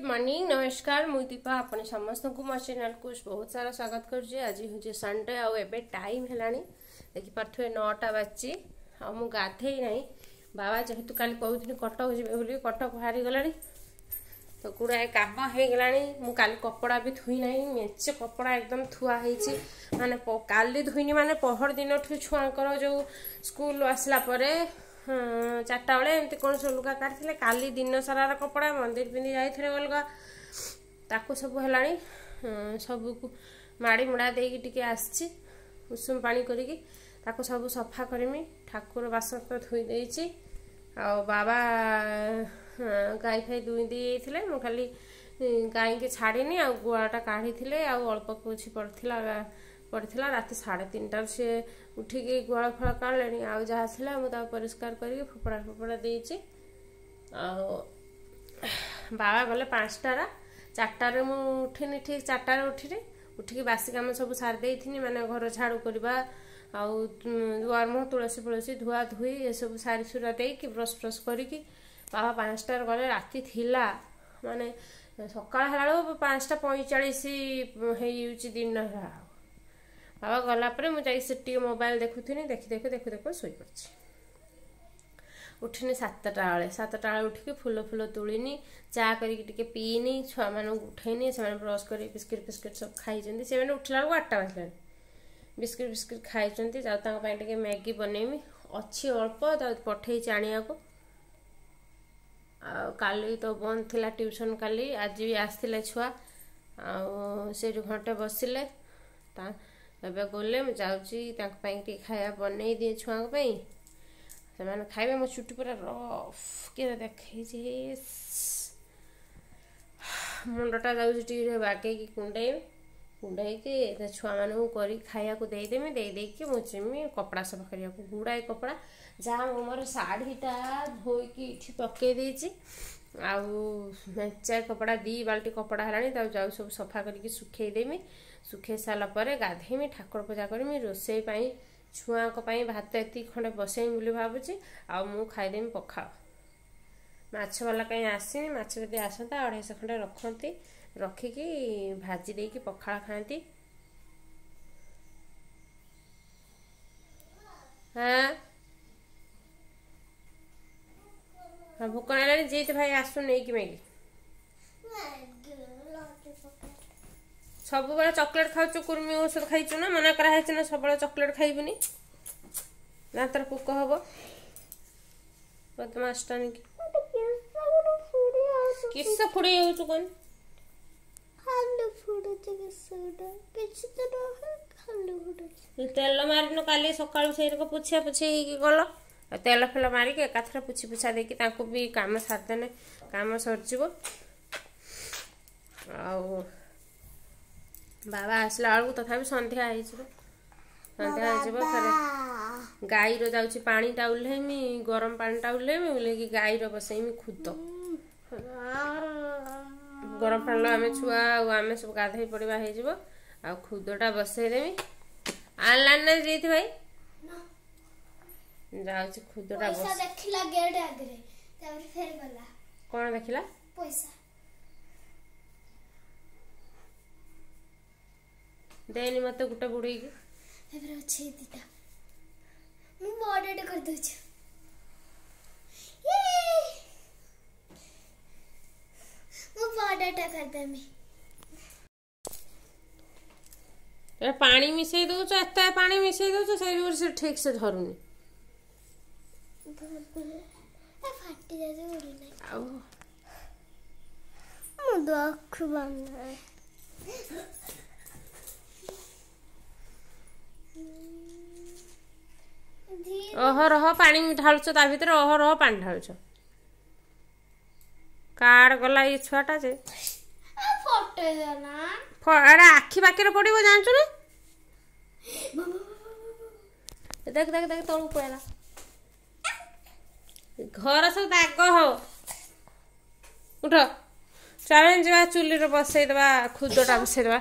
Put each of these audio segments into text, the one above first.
Morning नमस्कार मुई दीपा आपण समस्त को मो चैनल को बहुत सारा स्वागत करुଛି। आज हूँ सन्डे आउ एबे टाइम हेलानी देखि पार्थुवे 9टा बाजी आ मु गाधेई नाही। बाबा जेहेतु काली कहउथिनी कटक जिबे बोली कटक बाहरी गलानी तो गुड़ाए काम हो गलानी। मु काली कपड़ा भी धोई नाही, मेचे कपड़ा एकदम थुआ होईछि माने काली धोईनी माने पहर दिनठु छुआंकर जो स्कूल आसला परे चार्टा बेले एमती कौन सब लुगा काटते काली दिन सारार कपड़ा मंदिर पिंधि जाते अलग ताकू सब हेलानी सबको माड़ी मुड़ा दे टिके आसछि उषुम पानी करिकी ताकू सब सफा करमी। ठाकुर बासन तो धोई देइछि आ बाबा गाय फाई दुई देइथिले, मु खाली गाय के छाड़िनी आ गुआटा काढ़ीथिले आ अल्प कुछ पड़थिला रात 3:30 से उठिकी गुआल फल काढ़ले आउ जहाँ थिला मु ताको परिष्कार करी फोपड़ा फोपड़ा देइछि। आ बाबा गले 5टा 4टा मु उठिनी, ठीक 4टा उठिनी उठिकी बासी काम सब सारि देइथिनी माने घर झाड़ू करबा आउ दुआर मुह तुलसी फुलसी धुआ धुई ए सब सारी सुरा देइकी ब्रश फ्रश करिकी बाबा 5टा गले। राति थिला माने सकाळ होला बेलु 5:45 हेइउछि दिन होला। बाबा गला पर मुझे से टी मोबाइल देखुथिनी, देखि देखु देखु देखु शोई पड़ছি। उठिनी 7टा बेले 7टा बेले उठिकी फूल फूल तोड़िनी चा करिकी टिके पीनी छुआ मानକୁ उठेनी, सेमाने ब्रश करी बिस्किट फिस्किट सब खाइचंती। सेमाने उठला बेलु 8टा बाजिलानी, बिस्किट फिस्किट खाइचंती। जाउ ताଙ୍କ ପାଇଁ टिके मैगी बनेमी अछि अल्प ता पठेई आଣିବାକୁ। आ काली तो बंद थिला ट्यूशन, काली आज भी आसथिले छुआ आ सेठी घंटे बसिले ता एबे गले मु जाउची ताଙ୍କ ପାଇଁ ଟିକେ ଖାଇବା ବନେଇ ଦିଏ ଛୁଆଙ୍କ ପାଇଁ, ସେମାନେ ଖାଇବେ। ମୋ ଚୁଟି ପୁରା ରଫ୍ କିରା ଦେଖେଇଛି, ମୁଣ୍ଡଟା ଯାଉଛି ଟିକେ ବାଗେଇକି କୁଣ୍ଡେଇବି, କୁଣ୍ଡେଇକି ଛୁଆମାନଙ୍କୁ କରିକି ଖାଇବାକୁ ଦେଇଦେମି। ଦେଇ ଦେଇକି ମୁଁ ଯିମି କପଡ଼ା ସଫା କରିବାକୁ, ଗୁଡ଼ାଏ କପଡ଼ା ଯାହା ମୁଁ ମୋର ଶାଢ଼ୀଟା ଧୋଇକି ଏଠି ପକେଇ ଦେଇଛି ଆଉ ମେଞ୍ଚାଏ କପଡ଼ା 2 ବାଲ୍ଟି କପଡ଼ା ହେଲାଣି, ତାକୁ ଯାଉ ସବୁ ସଫା କରିକି ଶୁଖେଇଦେମି। ଶୁଖେଇ ସାରିଲା ପରେ ଗାଧେଇମି, ଠାକୁର ପୂଜା କରିମି, ରୋଷେଇ ପାଇଁ ଛୁଆଙ୍କ ପାଇଁ ଭାତ ଏତିକି ଖଣ୍ଡେ ବସେଇମି ବୋଲି ଭାବୁଛି। ଆଉ ମୁଁ ଖାଇଦେମି ପଖାଳ। ମାଛବାଲା କାହିଁ ଆସିନି, ମାଛ ଯଦି ଆସନ୍ତା 250 ଖଣ୍ଡେ ରଖନ୍ତି, ରଖିକି ଭାଜି ଦେଇକି ପଖାଳ ଖାଆନ୍ତି। ହଁ ହଁ ଭୋକ ଲାଗିଲାଣି, ଜିତ ଭାଇ ଆସୁ ନେଇକି ମ୍ୟାଗି। ସବୁବେଳେ ଚକୋଲେଟ୍ ଖାଉଛୁ, କୁର୍ମି ଔଷଧ ଖାଇଛୁ ନା, ମନା କରାହେଇଛି ନା ସବୁବେଳେ ଚକୋଲେଟ୍ ଖାଇବୁନି, ଦାନ୍ତରେ ପୋକ ହବ। ବଦମାସଟା ନେଇକି କିସ ଫୁଡେଇ ହଉଛୁ କଣ? ତେଲ ମାରିନୁ କାଲି ସକାଳୁ, ସେଇରକ ପୋଛା ପୋଛି ହେଇକି ଗଲ, ତେଲ ଫେଲ ମାରିକି ଏକାଥରେ ପୋଛି ପୋଛା ଦେଇକି ତାଙ୍କୁ ବି କାମ ସାରିଦେନେ କାମ ସରିଯିବ। ଆଉ ବାବା ଆସିଲା ବେଳକୁ ତଥାପି ସନ୍ଧ୍ୟା ହେଇଯିବ, ସନ୍ଧ୍ୟା ହେଇଯିବ। ଫେରେ ଗାଈର ଯାଉଛି ପାଣିଟା ଓହ୍ଲେଇମି, ଗରମ ପାଣିଟା ଓହ୍ଲେଇମି, ଓହ୍ଲେଇକି ଗାଈର ବସେଇମି ଖୁଦ। ଗରମ ପାଣିର ଆମେ ଛୁଆ ଆଉ ଆମେ ସବୁ ଗାଧେଇ ପଡ଼ିବା ହେଇଯିବ। ଆଉ ଖୁଦଟା ବସେଇଦେମି। ଆଣିଲାନି ନା ଜିତ ଭାଇ? ଯାଉଛି ଖୁଦଟା ଦେଖିଲା ଗେଟ୍ ଆଗରେ, ତାପରେ ଫେର ଗଲା। କଣ ଦେଖିଲା? ପଇସା ଦେନି ମତେ ଗୋଟେ ବୁଡେଇକି। ତାପରେ ଅଛି ଦିଟା, ମୁଁ ବଡଟେ କରିଦଉଛି। ମୁଁ ବଡଟା କରିଦେମି। ପାଣି ମିଶେଇ ଦଉଛ, ଏତେ ପାଣି ମିଶେଇ ଦଉଛ, ସେଇ ଯୋଗୁଁ ସେ ଠିକ ସେ ଧରୁନି। ଫାଟି ଯାଉଛି ଉଡୁନି। ଆଉ ମୁଁ ଦଖ ବନାଏ। ଅହରହ ପାଣି ଢାଳୁଛ ତା ଭିତରେ, ଅହରହ ପାଣି ଢାଳୁଛ। କାର୍ଡ ଗଲା ଏଇ ଛୁଆଟା ଯେ ଏଟା ଆଖି ବାକିରେ ପଡିବ ଜାଣିଛୁ ନା? ଦେଖ ଦେଖ ଦେଖ ତଳକୁ ପଳେଇଲା, ଘର ସବୁ ଦାଗ ହବ। ଉଠ ଚାଲ ଯିବା ଚୁଲିରେ ବସେଇଦବା, ଖୁଦଟା ବସେଇଦବା।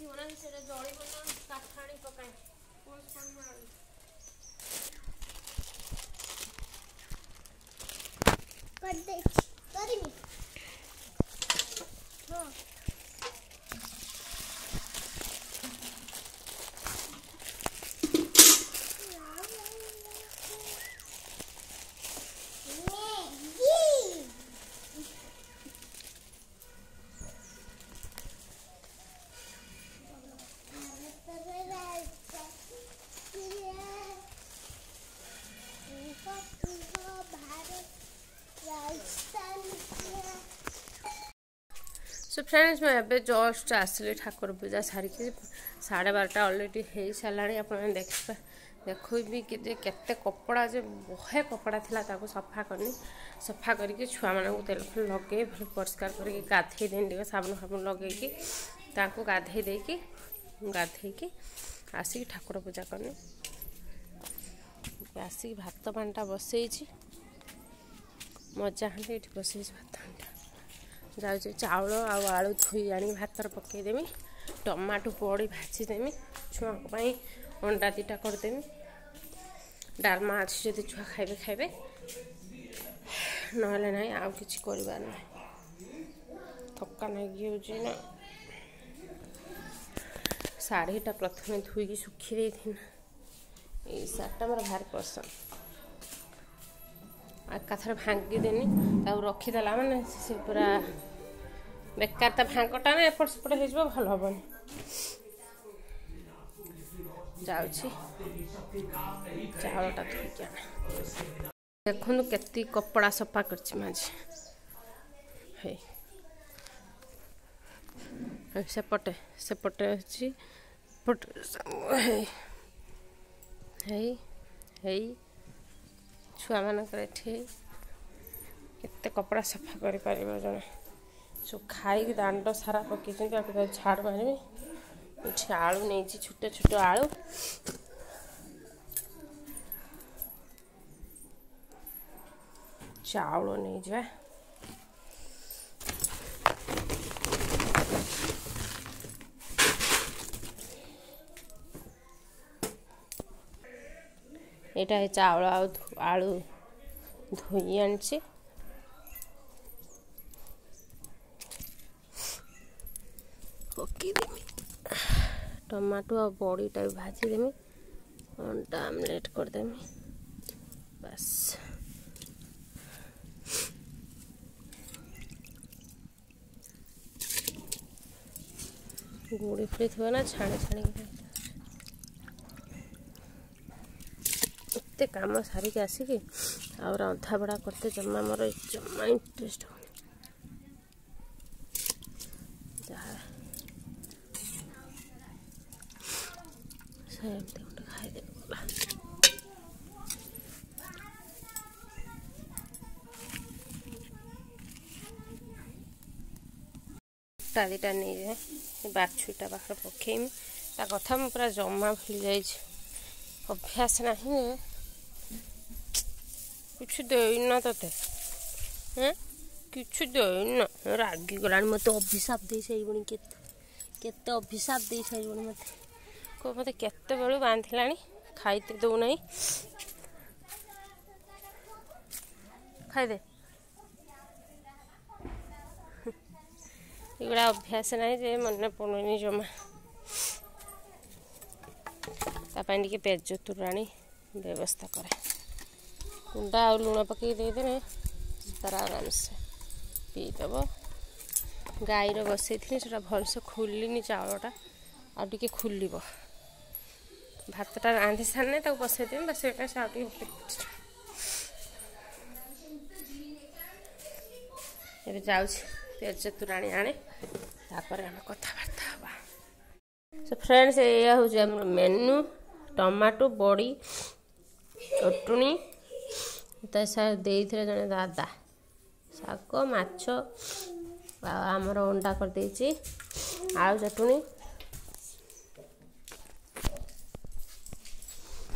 ଥିବ ନା, ସେଇଟା ଜଳିବ ନା। କାଠ ଆଣି ପକାଏ। କରିଦେଇଛି, କରିବି। ହଁ, ମ୍ୟାଗି। ଭାରତର ରାଜଧାନୀ କୁହ, କୁହ, ଭାରତ ରାଜଧାନୀ। ସୋ ଫ୍ରେଣ୍ଡସ୍, ମୁଁ ଏବେ ଜଷ୍ଟ ଆସିଲି ଠାକୁର ପୂଜା ସାରିକି। 12:30 ଅଲରେଡ଼ି ହେଇସାରିଲାଣି। ଆପଣମାନେ ଦେଖିବା ଦେଖୁବି କି ଯେ କେତେ କପଡ଼ା, ଯେ ବହେ କପଡ଼ା ଥିଲା, ତାକୁ ସଫା କରିନି। ସଫା କରିକି ଛୁଆମାନଙ୍କୁ ତେଲ ଫେଲ ଲଗେଇ ଭଲ ପରିଷ୍କାର କରିକି ଗାଧେଇ ଦେନି, ଟିକେ ସାବୁନ ଫାବୁନ ଲଗେଇକି ତାଙ୍କୁ ଗାଧେଇ ଦେଇକି, ଗାଧେଇକି ଆସିକି ଠାକୁର ପୂଜା କଲି। ଆସିକି ଭାତ ପାଣିଟା ବସେଇଛି, ମଜା ହାଣ୍ଡି ଏଠି ବସେଇଛି ଭାତ ହାଣ୍ଡିଟା। ଯାଉଛି ଚାଉଳ ଆଉ ଆଳୁ ଧୋଇ ଆଣିକି ଭାତରେ ପକେଇଦେମି, ଟମାଟୋ ବଡ଼ି ଭାଜିଦେମି, ଛୁଆଙ୍କ ପାଇଁ ଅଣ୍ଡା 2ଟା କରିଦେମି। ଡାଲମା ଅଛି, ଯଦି ଛୁଆ ଖାଇବେ ଖାଇବେ, ନହେଲେ ନାହିଁ। ଆଉ କିଛି କରିବାର ନାହିଁ, ଥକା ଲାଗିଯାଉଛି ନା। ଶାଢ଼ୀଟା ପ୍ରଥମେ ଧୋଇକି ଶୁଖି ଦେଇଥିଲି। ଏଇ ଶାଢ଼ୀଟା ମୋର ଭାରି ପସନ୍ଦ। ଏକାଥରେ ଭାଙ୍ଗିଦେନି, ତାକୁ ରଖିଦେଲା ମାନେ ସେ ପୁରା ବେକାର। ତା ଭାଙ୍ଗଟା ନା ଏପଟ ସେପଟ ହେଇଯିବ, ଭଲ ହବନି। ଯାଉଛି ଚାଉଳଟା ଧୋଇକି ଆଣେ। ଦେଖନ୍ତୁ କେତିକି କପଡ଼ା ସଫା କରିଛି ମୁଁ ଆଜି। ହେଇ ସେପଟେ ସେପଟେ ଅଛି, ଏପଟେ ହେଇ ହେଇ ହେଇ ଛୁଆମାନଙ୍କର ଏଠି କେତେ କପଡ଼ା ସଫା କରିପାରିବ ଜଣେ? ସବୁ ଖାଇକି ଦାଣ୍ଡ ସାରା ପକେଇଛନ୍ତି। ଆଉ କେତେବେଳେ ଝାଡ଼ୁ ମାରିବି। ଏଠି ଆଳୁ ନେଇଛି, ଛୋଟ ଛୋଟ ଆଳୁ। ଚାଉଳ ନେଇଯିବା। ଏଇଟା ଚାଉଳ ଆଉ ଆଳୁ ଧୋଇ ଆଣିଛି, ପକେଇଦେମି। ଟମାଟୋ ଆଉ ବଡ଼ିଟା ବି ଭାଜିଦେମି, ଅଣ୍ଡା ଆମଲେଟ୍ କରିଦେମି, ବାସ୍। ଗୁଡ଼ି ଫୁଡ଼ି ଥିବ ନା, ଛାଣି ଛାଣିକି। ଏତେ କାମ ସାରିକି ଆସିକି ଆଉ ରନ୍ଧା ବଢ଼ା କରତେ ଜମା ମୋର ଜମା ଇଣ୍ଟରେଷ୍ଟ ହେଉନି। ଯାହା ସେମିତି ଗୋଟେ ଖାଇଦେବି ଗଲା। କୁଟା 2ଟା ନେଇଯାଏ, ବାଛୁରୀଟା ପାଖରେ ପକେଇମି। ତା କଥା ମୁଁ ପୁରା ଜମା ଭୁଲି ଯାଇଛି, ଅଭ୍ୟାସ ନାହିଁ। କିଛି ଦେଇନ ତତେ? ହେଁ, କିଛି ଦେଇନ? ରାଗିଗଲାଣି ମୋତେ, ଅଭିଶାପ ଦେଇ ସାରିବଣି। କେତେ କେତେ ଅଭିଶାପ ଦେଇ ସାରିବଣି ମୋତେ। କୁହ, ମୋତେ କେତେବେଳୁ ବାନ୍ଧିଲାଣି, ଖାଇତେ ଦଉନାହିଁ। ଖାଇଦେ। ଏଗୁଡ଼ା ଅଭ୍ୟାସ ନାହିଁ ଯେ ମନେ ପଡ଼ୁନି ଜମା। ତା ପାଇଁ ଟିକେ ପେଜ ତୋରାଣି ବ୍ୟବସ୍ଥା କରେ। କୁଣ୍ଡା ଆଉ ଲୁଣ ପକେଇକି ଦେଇଦେଲେ ତାର ଆରାମସେ ପିଇଦେବ। ଗାଈର ବସେଇଥିଲି, ସେଟା ଭଲସେ ଖୁଲିନି ଚାଉଳଟା, ଆଉ ଟିକେ ଖୁଲିବ। ଭାତଟା ରାନ୍ଧି ସାରିଲେ ତାକୁ ବସେଇଦେବି, ବସେଇଲେ ସେ ଆଉ ଟିକେ। ଏବେ ଯାଉଛି ପେଜ ତୋରାଣି ଆଣେ, ତାପରେ ଆମେ କଥାବାର୍ତ୍ତା ହେବା। ସୋ ଫ୍ରେଣ୍ଡସ୍, ଏଇଆ ହେଉଛି ଆମର ମେନୁ। ଟମାଟୋ ବଡ଼ି ଚଟୁଣି ତା ଦେଇଥିଲେ ଜଣେ ଦାଦା, ଶାଗ, ମାଛ, ଆଉ ଆମର ଅଣ୍ଡା କରିଦେଇଛି, ଆଳୁ ଚଟୁଣି।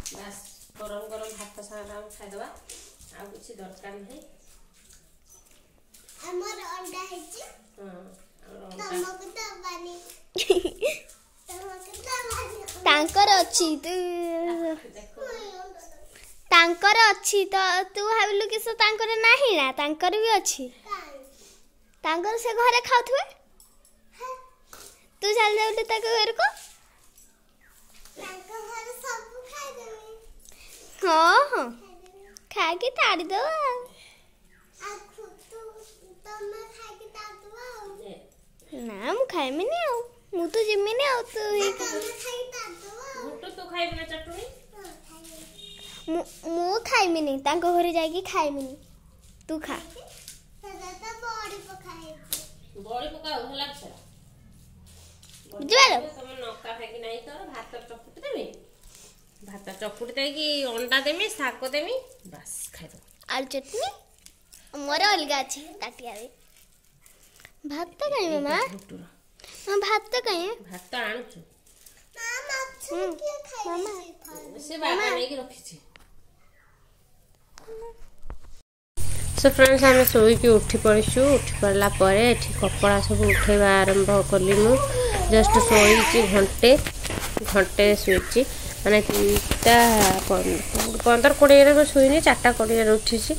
ବାସ୍, ଗରମ ଗରମ ଭାତ ସାଙ୍ଗରେ ଆମେ ଖାଇଦେବା, ଆଉ କିଛି ଦରକାର ନାହିଁ। ଆମର ଅଣ୍ଡା ହେଇଛି। ହଁ, ଆମର ଅଣ୍ଡା। ତମକୁ ଦବାନି। ଅଛି, ତାଙ୍କର ଅଛି ତ ତୁ ଭାବିଲୁ କି ସେ ତାଙ୍କର ନାହିଁ ନା? ତାଙ୍କର ବି ଅଛି, ତାଙ୍କର ସେ ଘରେ ଖାଉଥିବେ। ତୁ ଚାଲି ଯାଉଲୁ ତାଙ୍କ ଘରକୁ। ହଁ ହଁ, ଖାଇକି ତାଡ଼ିଦବ। ନା, ମୁଁ ଖାଇମିନି ଆଉ ମୁଁ ତ ଯିମିନି ଆଉ। ତୁ ମୁଁ ଖାଇମିନି, ତାଙ୍କ ଘରେ ଯାଇକି ଖାଇମିନି, ତୁ ଖା। ବୁଝିପାରିଲ? ଭାତ ଚକୁଟି ଦେଇକି ଅଣ୍ଡା ଦେମି, ଶାଗ ଦେମି, ବାସ୍ ଖାଇଦେବ। ଆଳୁ ଚଟଣି ମୋର ଅଲଗା ଅଛି ତାଟିଆରେ। ଭାତ କାଇଁ ମାମା? ଭାତ କାଇଁ? ଭାତ ଆଣୁଛୁ ସେ ବାବା ନେଇକି ରଖିଛି। ସୋ ଫ୍ରେଣ୍ଡସ୍, ଆମେ ଶୋଇକି ଉଠି ପଡ଼ିଛୁ। ଉଠି ପଡ଼ିଲା ପରେ ଏଠି କପଡ଼ା ସବୁ ଉଠେଇବା ଆରମ୍ଭ କଲି। ମୁଁ ଜଷ୍ଟ ଶୋଇଛି ଘଣ୍ଟେ, ଘଣ୍ଟେ ଶୋଇଛି, ମାନେ 3ଟା 15 20ରେ ମୁଁ ଶୋଇନି, 4ଟା 20ରେ ଉଠିଛି।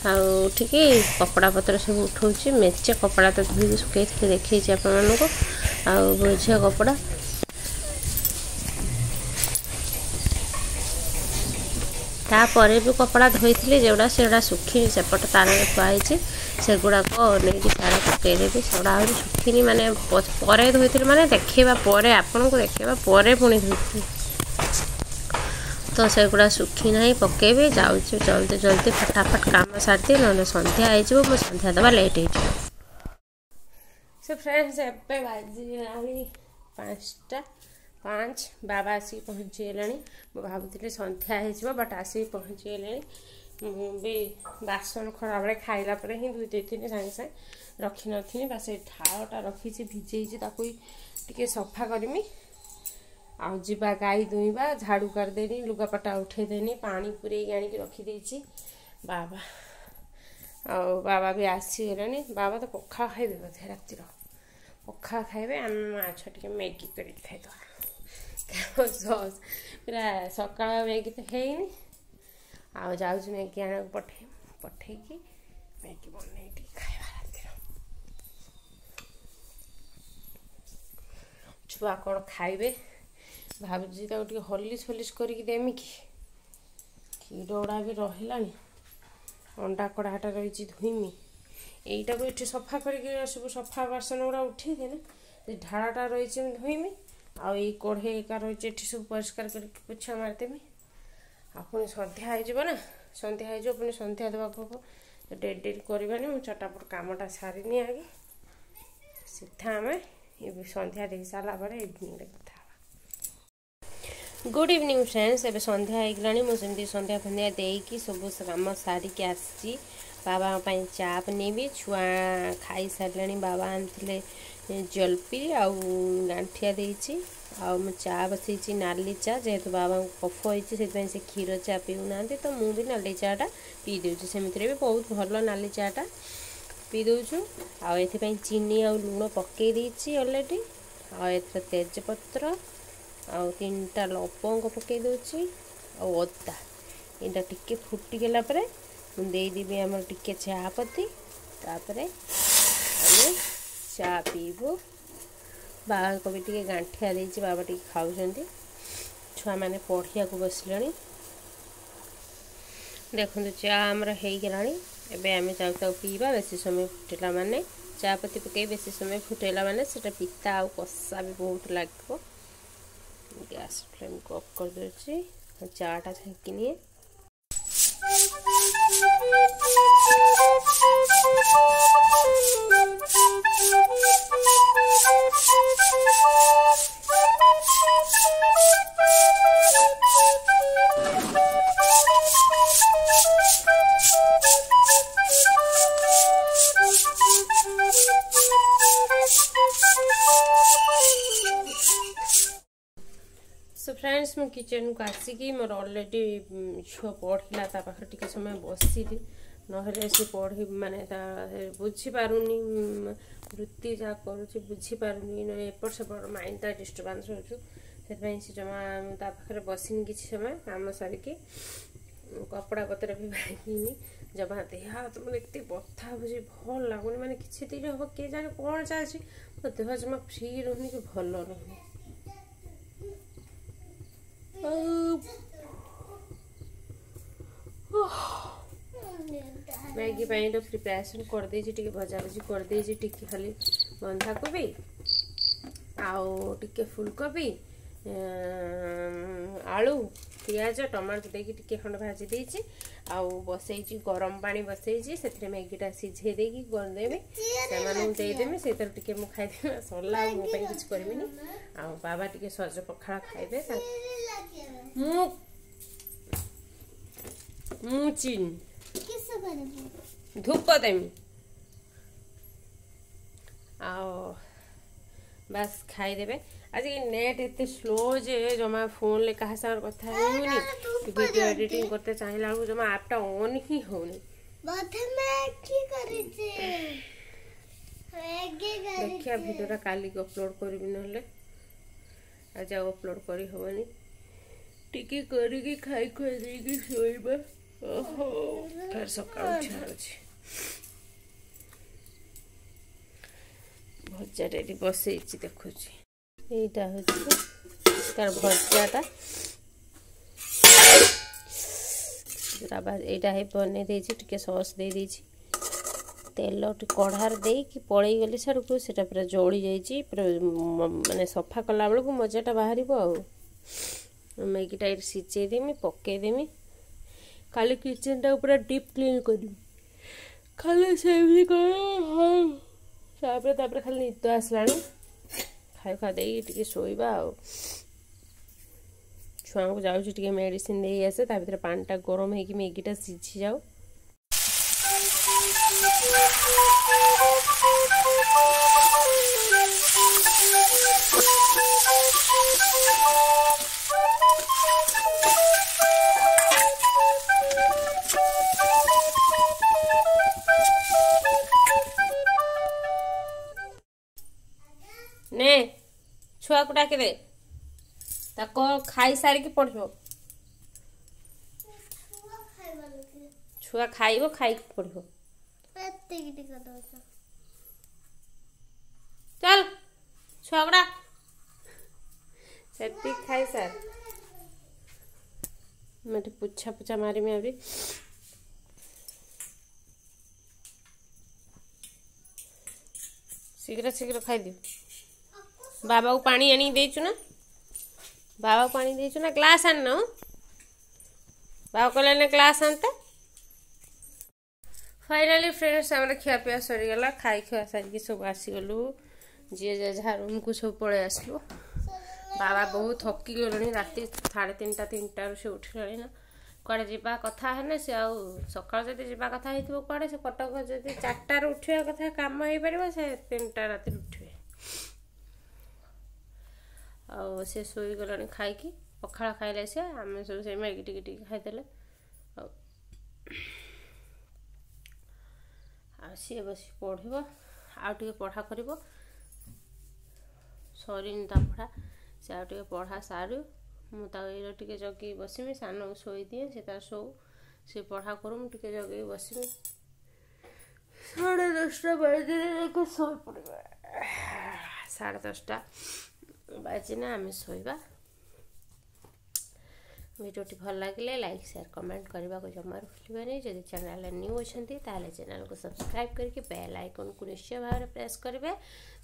ଆଉ ଉଠିକି କପଡ଼ା ପତ୍ର ସବୁ ଉଠଉଛି। ମେଞ୍ଚେ କପଡ଼ା ତ ଧୋଇକି ଶୁଖେଇଥିଲି, ଦେଖେଇଛି ଆପଣମାନଙ୍କୁ, ଆଉ ବୋଝେ କପଡ଼ା। ତାପରେ ବି କପଡ଼ା ଧୋଇଥିଲି ଯେଉଁଟା, ସେଗୁଡ଼ା ଶୁଖିନି, ସେପଟ ତାରରେ ଥୁଆ ହେଇଛି, ସେଗୁଡ଼ାକ ନେଇକି ସିଆଡ଼େ ପକେଇଦେବି। ସେଗୁଡ଼ା ଆହୁରି ଶୁଖିନି, ମାନେ ପରେ ଧୋଇଥିଲି, ମାନେ ଦେଖେଇବା ପରେ, ଆପଣଙ୍କୁ ଦେଖେଇବା ପରେ ପୁଣି ଧୋଇଥିଲି, ତ ସେଗୁଡ଼ା ଶୁଖି ନାହିଁ, ପକେଇବି। ଯାଉଛି ଜଲ୍ଦି ଜଲ୍ଦି ଫଟାଫଟ କାମ ସାରିଦିଏ, ନହେଲେ ସନ୍ଧ୍ୟା ହେଇଯିବ, ମୁଁ ସନ୍ଧ୍ୟା ଦେବା ଲେଟ୍ ହେଇଯିବ। ସେ ଫ୍ରେଣ୍ଡସ୍, ଏବେ ବାଜିଲାଣି 5ଟା 5। ବାବା ଆସିକି ପହଞ୍ଚିଗଲେଣି। ମୁଁ ଭାବୁଥିଲି ସନ୍ଧ୍ୟା ହେଇଯିବ, ବଟ୍ ଆସିକି ପହଞ୍ଚିଗଲେଣି। ମୁଁ ବି ବାସନ ଖରାବେଳେ ଖାଇଲା ପରେ ହିଁ ଧୋଇ ଦେଇଥିଲି, ସାଙ୍ଗେ ସାଙ୍ଗେ ରଖିନଥିଲି। ବା ସେ ଢାଳଟା ରଖିଛି, ଭିଜେଇଛି, ତାକୁ ଟିକେ ସଫା କରିମି। ଆଉ ଯିବା ଗାଈ ଦୁଇଁବା, ଝାଡ଼ୁ କରିଦେନି, ଲୁଗାପଟା ଉଠେଇଦେନି, ପାଣି ପୂରେଇକି ଆଣିକି ରଖିଦେଇଛି। ବାବା ଆଉ ବାବା ବି ଆସିଗଲେଣି। ବାବା ତ ପଖାଳ ଖାଇବେ ବୋଧେ, ରାତିର ପଖାଳ ଖାଇବେ। ଆମେ ମା ଛୁଆ ଟିକେ ମ୍ୟାଗି କରିକି ଖାଇଦେବା, ପୁରା ସକାଳ ମ୍ୟାଗି ତ ହେଇନି। ଆଉ ଯାଉଛି ମ୍ୟାଗି ଆଣିବାକୁ, ପଠେଇ ପଠେଇକି ମ୍ୟାଗି ବନେଇକି ଟିକେ ଖାଇବା ରାତିର। ଛୁଆ କ'ଣ ଖାଇବେ ଭାବୁଛି? ତାକୁ ଟିକେ ହର୍ଲିକ୍ସ ଫଲିକ୍ସ କରିକି ଦେମି କି? କ୍ଷୀର ଗୁଡ଼ା ବି ରହିଲାଣି, ଅଣ୍ଡା କଢ଼ାଟା ରହିଛି, ଧୋଇମି। ଏଇଟାକୁ ଏଠି ସଫା କରିକି ସବୁ ସଫା ବାସନ ଗୁଡ଼ା ଉଠେଇଦେଲେ, ସେ ଢାଳଟା ରହିଛି, ମୁଁ ଧୋଇମି। ଆଉ ଏଇ କଢ଼େଇ ଏକା ରହିଛି, ଏଠି ସବୁ ପରିଷ୍କାର କରିକି ପୋଛା ମାରିଦେମି। ଆଉ ପୁଣି ସନ୍ଧ୍ୟା ହେଇଯିବ ନା, ସନ୍ଧ୍ୟା ହେଇଯିବ, ପୁଣି ସନ୍ଧ୍ୟା ଦେବାକୁ ହବ। ଡେରି ଡେରି କରିବାନି, ମୁଁ ଚଟାପଟ କାମଟା ସାରିନି ଆଗେ। ସିଧା ଆମେ ସନ୍ଧ୍ୟା ଦେଇ ସାରିଲା ପରେ ଇଭିନିଂରେ କଥା ହେବା। ଗୁଡ୍ ଇଭିନିଂ ଫ୍ରେଣ୍ଡସ୍, ଏବେ ସନ୍ଧ୍ୟା ହେଇଗଲାଣି। ମୁଁ ସେମିତି ସନ୍ଧ୍ୟା ଫନ୍ଧ୍ୟା ଦେଇକି ସବୁ କାମ ସାରିକି ଆସିଛି। ବାବାଙ୍କ ପାଇଁ ଚା ବନେଇବି। ଛୁଆ ଖାଇସାରିଲେଣି, ବାବା ଆଣିଥିଲେ ଜଲପି ଆଉ ଗାଣ୍ଠିଆ ଦେଇଛି। ଆଉ ମୁଁ ଚା ବସେଇଛି, ନାଲି ଚା। ଯେହେତୁ ବାବାଙ୍କୁ କଫ ହେଇଛି, ସେଥିପାଇଁ ସେ କ୍ଷୀର ଚା ପିଉନାହାନ୍ତି, ତ ମୁଁ ବି ନାଲି ଚାଟା ପିଇ ଦେଉଛି। ସେମିତିରେ ବି ବହୁତ ଭଲ ନାଲି ଚାଟା, ପିଇ ଦେଉଛୁ। ଆଉ ଏଥିପାଇଁ ଚିନି ଆଉ ଲୁଣ ପକେଇ ଦେଇଛି ଅଲରେଡ଼ି। ଆଉ ଏଥିରେ ତେଜପତ୍ର ଆଉ 3ଟା ଲବଙ୍ଗ ପକେଇ ଦେଉଛି ଆଉ ଅଦା। ଏଇଟା ଟିକେ ଫୁଟିଗଲା ପରେ ମୁଁ ଦେଇଦେବି ଆମର ଟିକେ ଚା ପତି, ତାପରେ ଆମେ ଚା ପିଇବୁ। ବାବାଙ୍କ ବି ଟିକେ ଗାଣ୍ଠିଆ ଦେଇଛି, ବାବା ଟିକେ ଖାଉଛନ୍ତି। ଛୁଆମାନେ ପଢ଼ିବାକୁ ବସିଲେଣି। ଦେଖନ୍ତୁ, ଚା ଆମର ହେଇଗଲାଣି। ଏବେ ଆମେ ଯାଉ ତାକୁ ପିଇବା। ବେଶୀ ସମୟ ଫୁଟିଲା ମାନେ, ଚା ପତି ପକାଇ ବେଶୀ ସମୟ ଫୁଟେଇଲା ମାନେ ସେଇଟା ପିତା ଆଉ କଷା ବି ବହୁତ ଲାଗିବ। ଗ୍ୟାସ୍ ଫ୍ଲେମ୍କୁ ଅଫ୍ କରିଦେଉଛି, ଚାଟା ଛାଙ୍କି ନିଏ। ସୋ ଫ୍ରେଣ୍ଡସ୍, ମୁଁ କିଚେନ୍କୁ ଆସିକି ମୋର ଅଲରେଡ଼ି ଝିଅ ପଢ଼ିଲା, ତା ପାଖରେ ଟିକେ ସମୟ ବସିଲି, ନହେଲେ ସେ ପଢ଼ି ମାନେ ତା ବୁଝିପାରୁନି, ବୃତ୍ତି ଯାହା କରୁଛି ବୁଝିପାରୁନି, ନହେଲେ ଏପଟ ସେପଟ ମାଇଣ୍ଡଟା ଡିଷ୍ଟର୍ବାନ୍ସ ହେଉଛି। ସେଥିପାଇଁ ସେ ଜମା ତା ପାଖରେ ବସିନି କିଛି ସମୟ। କାମ ସାରିକି କପଡ଼ା ପତ୍ର ବି ଭାଙ୍ଗିନି। ଜମା ଦେହ ହାତ ମାନେ ଏତେ ବଥା ହେଉଛି, ଭଲ ଲାଗୁନି। ମାନେ କିଛି ଦିନ ହବ କିଏ ଜାଣେ କ'ଣ ଚାଲିଛି, ମୋ ଦେହ ଜମା ଫ୍ରି ରହୁନି କି ଭଲ ରହୁନି। ଆଉ ମ୍ୟାଗି ପାଇଁ ତ ପ୍ରିପାରେସନ୍ କରିଦେଇଛି, ଟିକେ ଭଜାଭଜି କରିଦେଇଛି, ଟିକେ ଖାଲି ବନ୍ଧାକୋବି ଆଉ ଟିକେ ଫୁଲକୋବି, ଆଳୁ, ପିଆଜ, ଟମାଟୋ ଦେଇକି ଟିକେ ଖଣ୍ଡ ଭାଜି ଦେଇଛି। ଆଉ ବସେଇଛି ଗରମ ପାଣି ବସେଇଛି, ସେଥିରେ ମ୍ୟାଗିଟା ସିଝେଇ ଦେଇକି କରିଦେବି, ସେମାନଙ୍କୁ ଦେଇଦେବି, ସେଇଥିରେ ଟିକେ ମୁଁ ଖାଇଦେବି, ସରିଲା। ଆଉ ମୋ ପାଇଁ କିଛି କରିବିନି। ଆଉ ବାବା ଟିକେ ସଜ ପଖାଳ ଖାଇବେ। ମୁଁ ମୁଁ ଚିନ୍ ଧୂପ ଦେମି ଆଉ ବାସ୍ ଖାଇଦେବେ। ଆଜି ନେଟ୍ ଏତେ ସ୍ଲୋ ଯେ ଜମା ଫୋନ୍ରେ କାହା ସାଙ୍ଗରେ କଥା ହେଉନି। ଭିଡ଼ିଓ ଏଡ଼ିଟିଂ କରତେ ଚାହିଁଲା ବେଳକୁ ଜମା ଆପ୍ଟା ଅନ୍ ହିଁ ହେଉନି। ଦେଖିବା, ଭିଡ଼ିଓଟା କାଲିକି ଅପଲୋଡ଼ କରିବି, ନହେଲେ ଆଜି ଆଉ ଅପଲୋଡ଼ କରିହେବନି। ଟିକେ କରିକି ଖାଇ ଖୁଆ ଦେଇକି ଶୋଇବା। ଓହୋ, ଫେର ସକାଳୁ ଉଠିବାର ଅଛି। ଭଜାଟା ଏଠି ବସେଇଛି, ଦେଖୁଛି। ଏଇଟା ହେଉଛି ତାର ଭଜାଟା। ଏଇଟା ହେଇ ବନେଇ ଦେଇଛି, ଟିକେ ସସ୍ ଦେଇ ଦେଇଛି। ତେଲ ଟିକେ କଢ଼ାରେ ଦେଇକି ପଳେଇଗଲି ସିଆଡ଼କୁ, ସେଇଟା ପୁରା ଜଳି ଯାଇଛି ପୁରା। ମାନେ ସଫା କଲା ବେଳକୁ ମଜାଟା ବାହାରିବ। ଆଉ ମ୍ୟାଗିଟା ଏଇଠି ସିଝେଇ ଦେମି, ପକେଇଦେମି। କାଲି କିଚେନଟାକୁ ପୁରା ଡିପ୍ କ୍ଲିନ୍ କରିବି। ଖାଲି ସେମିତି ତାପରେ ତାପରେ ଖାଲି ନିଦ ଆସିଲାଣି। ଖାଇ ଖୁଆ ଦେଇକି ଟିକେ ଶୋଇବା। ଆଉ ଛୁଆଙ୍କୁ ଯାଉଛି ଟିକେ ମେଡ଼ିସିନ ଦେଇ ଆସେ, ତା ଭିତରେ ପାଣିଟା ଗରମ ହେଇକି ମ୍ୟାଗିଟା ସିଝି ଯାଉ। ନେ, ଛୁଆକୁ ଡାକିଦେ, ତାକୁ ଖାଇସାରିକି ପଢ଼ିବ। ଛୁଆ ଖାଇବ, ଖାଇକି ପଢ଼ିବ। ଚାଲ ଛୁଆଗୁଡ଼ା, ସେତିକି ଖାଇସାର। ମୁଁ ଏଠି ପୁଛା ପୁଛା ମାରିମି ଆହୁରି। ଶୀଘ୍ର ଶୀଘ୍ର ଖାଇଦିଅ। ବାବାକୁ ପାଣି ଆଣିକି ଦେଇଛୁ ନା? ବାବାକୁ ପାଣି ଦେଇଛୁ ନା? ଗ୍ଲାସ୍ ଆଣିନ? ବାବା କହିଲେ ନା ଗ୍ଲାସ୍ ଆଣିତେ। ଫାଇନାଲି ଫ୍ରେଣ୍ଡସ୍, ଆମର ଖିଆପିଆ ସରିଗଲା। ଖାଇ ଖୁଆ ସାରିକି ସବୁ ଆସିଗଲୁ, ଯିଏ ଯାହା ରୁମ୍କୁ ସବୁ ପଳେଇ ଆସିଲୁ। ବାବା ବହୁତ ଥକି ଗଲେଣି। ରାତି 3:30 3ଟାରୁ ସେ ଉଠିଲେଣି ନା। କୁଆଡ଼େ ଯିବା କଥା ହେଲେ ସେ ଆଉ ସକାଳୁ ଯଦି ଯିବା କଥା ହେଇଥିବ କୁଆଡ଼େ, ସେ କଟକ ଯଦି 4ଟାରୁ ଉଠିବା କଥା କାମ ହେଇପାରିବ, ସେ 3ଟା ରାତିରୁ ଉଠିବେ। ଆଉ ସେ ଶୋଇଗଲାଣି ଖାଇକି। ପଖାଳ ଖାଇଲେ ସେ, ଆମେ ସବୁ ସେଇ ମ୍ୟାଗି ଟିକେ ଟିକେ ଖାଇଦେଲେ। ଆଉ ଆଉ ସିଏ ବସି ପଢ଼ିବ, ଆଉ ଟିକେ ପଢ଼ା କରିବ। ସରିନି ତା ପଢ଼ା, ସେ ଆଉ ଟିକେ ପଢ଼ା ସାରୁ। ମୁଁ ତାକୁ ଏଇଟା ଟିକେ ଜଗିକି ବସିମି। ସାନକୁ ଶୋଇଦିଏ, ସେ ତାର ଶୋଉ, ସେ ପଢ଼ା କରୁ, ମୁଁ ଟିକେ ଜଗିକି ବସିମି। 10:30 ବାଜିଲେ ଯାଇକି ଶୋଇପଡ଼ିବା। 10:30 ବାଜିନେ ଆମେ ଶୋଇବା। ଭିଡ଼ିଓଟି ଭଲ ଲାଗିଲେ ଲାଇକ୍, ସେୟାର, କମେଣ୍ଟ କରିବାକୁ ଜମାରୁ ଭୁଲିବେନି। ଯଦି ଚ୍ୟାନେଲରେ ନ୍ୟୁ ଅଛନ୍ତି, ତାହେଲେ ଚ୍ୟାନେଲକୁ ସବସ୍କ୍ରାଇବ୍ କରିକି ବେଲ୍ ଆଇକନ୍କୁ ନିଶ୍ଚୟ ଭାବରେ ପ୍ରେସ୍ କରିବେ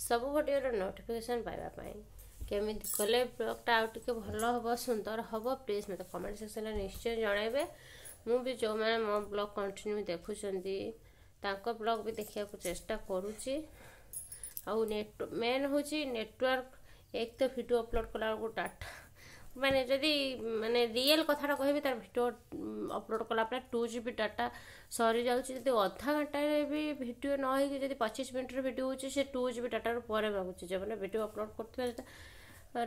ସବୁ ଭିଡ଼ିଓର ନୋଟିଫିକେସନ୍ ପାଇବା ପାଇଁ। କେମିତି କଲେ ବ୍ଲଗ୍ଟା ଆଉ ଟିକେ ଭଲ ହେବ, ସୁନ୍ଦର ହେବ, ପ୍ଲିଜ୍ ମୋତେ କମେଣ୍ଟ ସେକ୍ସନରେ ନିଶ୍ଚୟ ଜଣାଇବେ। ମୁଁ ବି ଯେଉଁମାନେ ମୋ ବ୍ଲଗ୍ କଣ୍ଟିନ୍ୟୁ ଦେଖୁଛନ୍ତି, ତାଙ୍କ ବ୍ଲଗ୍ ବି ଦେଖିବାକୁ ଚେଷ୍ଟା କରୁଛି। ଆଉ ନେଟ୍ ମେନ୍ ହେଉଛି ନେଟୱାର୍କ। ଏକ ତ ଭିଡ଼ିଓ ଅପଲୋଡ଼ କଲାବେଳକୁ ଡାଟା, ମାନେ ଯଦି ମାନେ ରିଏଲ୍ କଥାଟା କହିବି, ତାର ଭିଡ଼ିଓ ଅପଲୋଡ଼ କଲା ପରେ 2 GB data ସରିଯାଉଛି। ଯଦି ଅଧା ଘଣ୍ଟାରେ ବି ଭିଡ଼ିଓ ନ ହେଇକି ଯଦି 25 ମିନିଟ୍ର ଭିଡ଼ିଓ ହେଉଛି, ସେ 2 GB ଡାଟାରୁ ପରେ ମାଗୁଛି। ଯେଉଁମାନେ ଭିଡ଼ିଓ ଅପଲୋଡ଼ କରୁଥିବେ,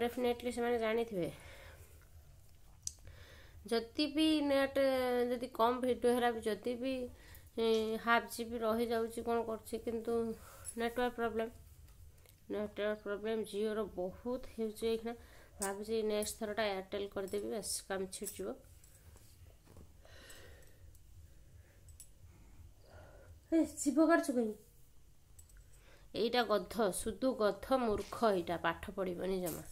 ଡେଫିନେଟଲି ସେମାନେ ଜାଣିଥିବେ। ଯଦି ବି ନେଟ୍ ଯଦି କମ୍ ଭିଡ଼ିଓ ହେଲା ବି, ଯଦି ବି ହାଫ୍ GB ରହିଯାଉଛି, କ'ଣ କରୁଛି, କିନ୍ତୁ ନେଟୱାର୍କ ପ୍ରୋବ୍ଲେମ୍, ନେଟୱାର୍କ ପ୍ରୋବ୍ଲେମ୍ ଜିଓର ବହୁତ ହେଉଛି ଏଇଖିଣା। ଭାବୁଛି ନେକ୍ସଟ ଥରଟା ଏୟାରଟେଲ୍ କରିଦେବି, ବାସ୍ କାମ ଛିଟିଯିବ। ଏ ଯିବ କାଟୁଛୁ କାହିଁ? ଏଇଟା ଗଧ, ସୁଦୁ ଗଧ, ମୂର୍ଖ, ଏଇଟା ପାଠ ପଢ଼ିବନି ଜମା।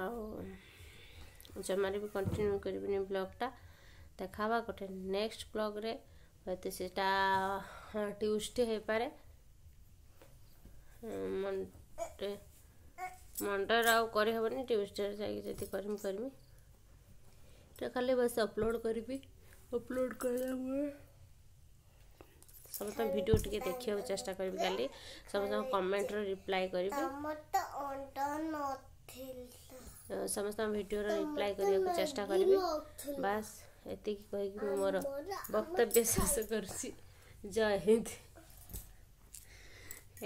ଆଉ ଜମାରେ ବି କଣ୍ଟିନ୍ୟୁ କରିବିନି ବ୍ଲଗ୍ଟା। ଦେଖା ହେବା ଗୋଟେ ନେକ୍ସଟ ବ୍ଲଗ୍ରେ, ହୁଏତ ସେଇଟା ଟ୍ୟୁସଡେ ହେଇପାରେ। ମଣ୍ଡେ ମଣ୍ଡେରେ ଆଉ କରିହେବନି, ଟ୍ୟୁସଡେରେ ଯାଇକି ଯଦି କରିମି କରିମି। ଏଇଟା ଖାଲି ବାସ୍ ଅପଲୋଡ଼ କରିବି। ଅପଲୋଡ଼ କଲା ପରେ ସମସ୍ତଙ୍କ ଭିଡ଼ିଓ ଟିକେ ଦେଖିବାକୁ ଚେଷ୍ଟା କରିବି। କାଲି ସମସ୍ତଙ୍କ କମେଣ୍ଟର ରିପ୍ଲାଏ କରିବି, ସମସ୍ତଙ୍କ ଭିଡ଼ିଓର ରିପ୍ଲାଏ କରିବାକୁ ଚେଷ୍ଟା କରିବି। ବାସ୍ ଏତିକି କହିକି ମୁଁ ମୋର ବକ୍ତବ୍ୟ ଶେଷ କରୁଛି। ଜୟ ହିନ୍ଦ।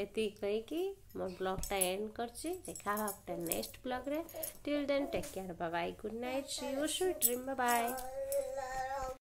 ଏତିକି କହିକି ମୋ ବ୍ଲଗ୍ଟା ଏଣ୍ଡ କରୁଛି। ଦେଖା ହେବା ଗୋଟେ next ବ୍ଲଗ୍ରେ। Till then take care, bye, good night, see you, sweet dream, bye.